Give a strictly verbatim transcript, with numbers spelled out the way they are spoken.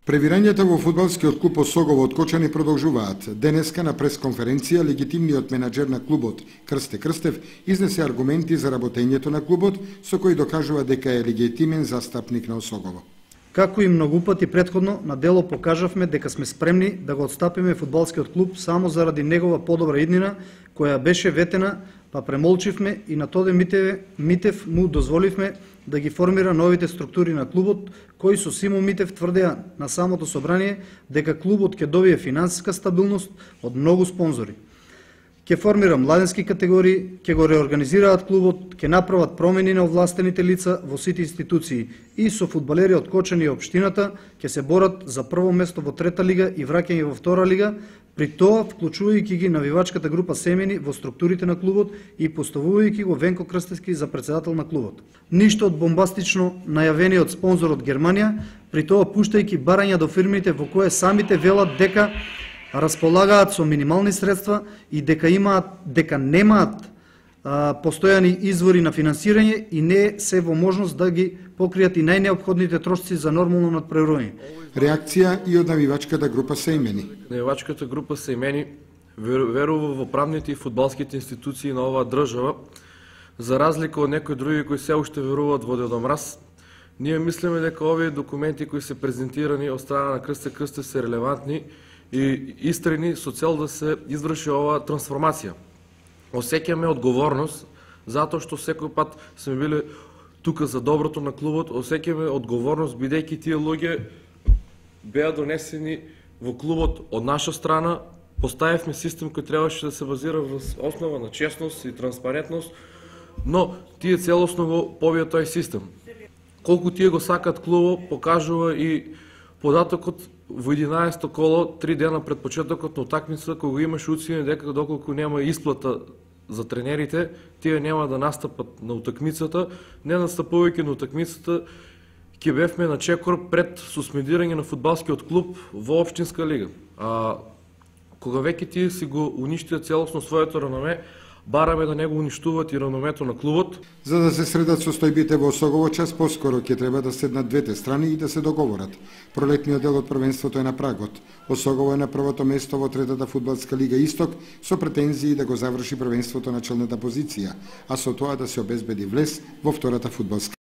Превирањата во фудбалскиот клуб Осогово од Кочани продолжуваат. Денеска на пресконференција легитимниот менаџер на клубот Крсте Крстев изнесе аргументи за работењето на клубот, со кои докажува дека е легитимен застапник на Осогово. Како и многу пати претходно, на дело покажавме дека сме спремни да го отстапиме фудбалскиот клуб само заради негова подобра иднина, која беше ветена, па премолчивме и на Тоде Митев, Митев му дозволивме да ги формира новите структури на клубот, кои со Симо Митев тврдеа на самото собрание дека клубот ќе добие финансиска стабилност од многу спонзори. Ќе формира младенски категории, ќе го реорганизираат клубот, ќе направат промени на овластените лица во сите институции и со фудбалери од Кочани и општината ќе се борат за прво место во трета лига и враќање во втора лига, при тоа вклучувајќи ги навивачката група семени во структурите на клубот и поставувајќи го Венко Крстевски за председател на клубот. Ништо од бомбастично најавениот спонзор од Германија, при тоа пуштајќи барања до фирмите во кое самите велат дека располагаат со минимални средства и дека имаат дека немаат а, постојани извори на финансирање и не се во можност да ги покријат и најнеопходните трошци за нормално надпреварување. Реакција и од навивачката група Сеимени. Навивачката група Сеимени верува во правните и фудбалските институции на оваа држава, за разлика од некои други кои се уште веруваат во дедомраз. Ние мислиме дека овие документи кои се презентирани од страна на Крсте Крстев се релевантни и истрени со цел да се изврши оваа трансформација. Осеќаме одговорност, затоа што секој пат сме биле тука за доброто на клубот, осеќаме одговорност бидејќи тие луѓе беа донесени во клубот од наша страна, поставивме систем кој требаше да се базира во основа на честност и транспарентност, но тие целосно го побија тој систем. Колку тие го сакат клубот, покажува и податокот во единаесетто коло, три дена пред почетокот на утакмицата, кога имаше уцене дека доколку нема исплата за тренерите, тие нема да настапат на утакмицата, не настапувајќи на утакмицата, ќе бевме на чекор пред суспендирање на фудбалскиот клуб во општинска лига. А кога веќе тие си го уништија целосно своето реноме, бараме да не го уништуваат и реномето на клубот. За да се средат состојбите во Осогово, час поскоро ќе треба да седнат двете страни и да се договорат. Пролетниот дел од првенството е на прагот. Осогово е на првото место во третата фудбалска лига Исток со претензии да го заврши првенството на челната позиција, а со тоа да се обезбеди влез во втората фудбалска